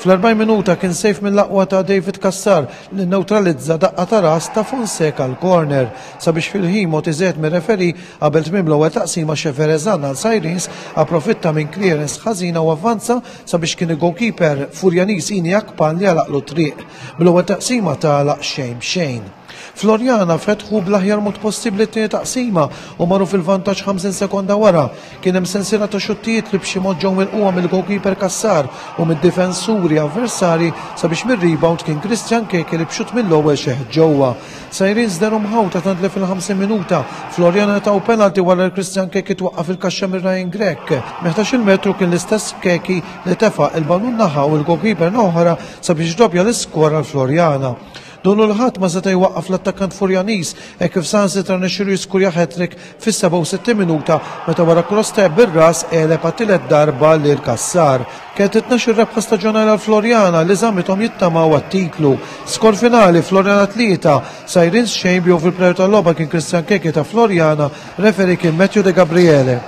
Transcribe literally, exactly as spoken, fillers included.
Fl-erbgħin minuta kien save mill-aqwa ta' David Cassar li neutralizza daqqa ta' ras ta' Fonseca għal corner sabiex fil-ħin mogħti żejt mir-referee qabel tmiem l-ewwel taqsima Xeferezan għal Sirens approfitta minn clearance ħażina u avvanza sabiex kien il-goalkeeper Furjaniż Ini Akpan li għalaqlu triq. Bl-ewwel taqsima tagħlaq xejn b'xejn. Floriana fetħu bl-aħjar mod possibbli t-tieni taqsima u marru fil-vantaġġ ħamsin sekonda wara. Kien hemm sensiela ta' xuttijiet li b'xi mod ġew milquha mill-goalkeeper Cassar u mid-difensuri avversari sabiex mir-rebound kien Christian Keke li b'xutt mill-ewwel xeħ ġewwa. Sirens dehru mħawta tant li fil-ħamsin minuta Floriana taw penalty wara li Christian Keke twaqqa' fil-kaxxa mir Ryan Grech. Minn ħdax-il metru kien l-istess Keke li tefa' il-ballun naħa u l-goalkeeper oħra sabiex doppja l-iskor għal Floriana. Donnu l-ħadd ma seta' jwaqqaf l-attakkant Furjaniż e kif saħansitra rnexxielu jiskurja hat-trick fis-sebgħa u sittin minuta meta wara cross tajjeb bir-ras għeleb għat-tielet darba lil Cassar. Kienet it-tnax-il rebħa staġjonali għal Floriana li żammithom jittamaw għat-titlu. Skor finali Floriana tlieta, Sirens xejn bi fil-plejer tal-logħba kien Christian Keke ta' Floriana, referee kien Matthew De Gabriele.